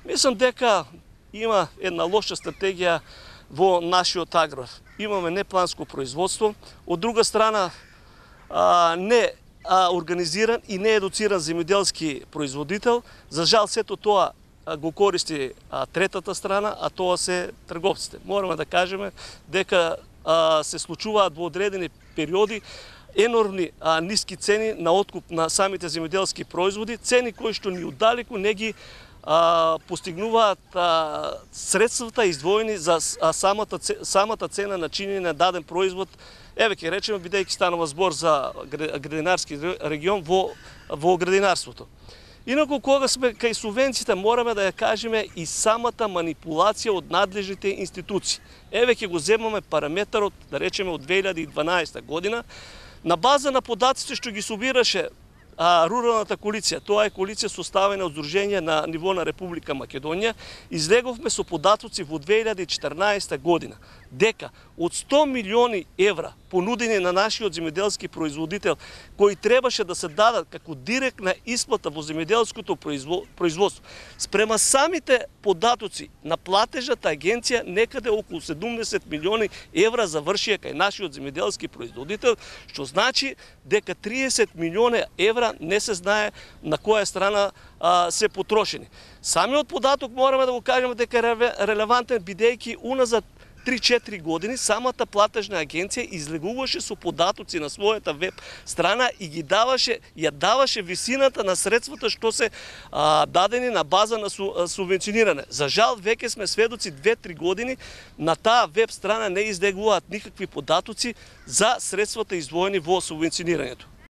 Мислам дека има една лоша стратегија во нашиот аграр. Имаме непланско производство, од друга страна не организиран и не едуциран земјоделски производител. За жал сето тоа го користи третата страна, а тоа се трговците. Мораме да кажеме дека се случуваат во одредени периоди енормни ниски цени на откуп на самите земјоделски производи, цени кои што ни оддалеку не ги постигнуваат средствата издвоени за самата цена на чинење на даден производ. Еве ќе речеме, бидејќи станува збор за градинарски регион во градинарството. Инаку, кога сме кај субвенциите, мораме да ја кажеме и самата манипулација од надлежните институции. Еве ќе го земаме параметарот, да речеме, од 2012 година, на база на податците што ги собираше руралната коалиција, тоа е коалиција составена од здруженија на ниво на Република Македонија, излеговме со податоци во 2014 година дека од 100 милиони евра понудени на нашиот земјоделски производител, кои требаше да се дадат како директна исплата во земјоделското производство, спрема самите податоци на платежната агенција, некаде околу 70 милиони евра завршија кај нашиот земјоделски производител, што значи дека 30 милиони евра не се знае на која страна се потрошени. Самиот податок мораме да го кажеме дека е релевантен, бидејќи уназад 3-4 години самата платежна агенција излегуваше со податоци на својата веб страна и ги ја даваше висината на средствата што се дадени на база на субвенционирање. За жал, веќе сме сведоци 2-3 години на таа веб страна не излегуваат никакви податоци за средствата издвоени во субвенционирањето.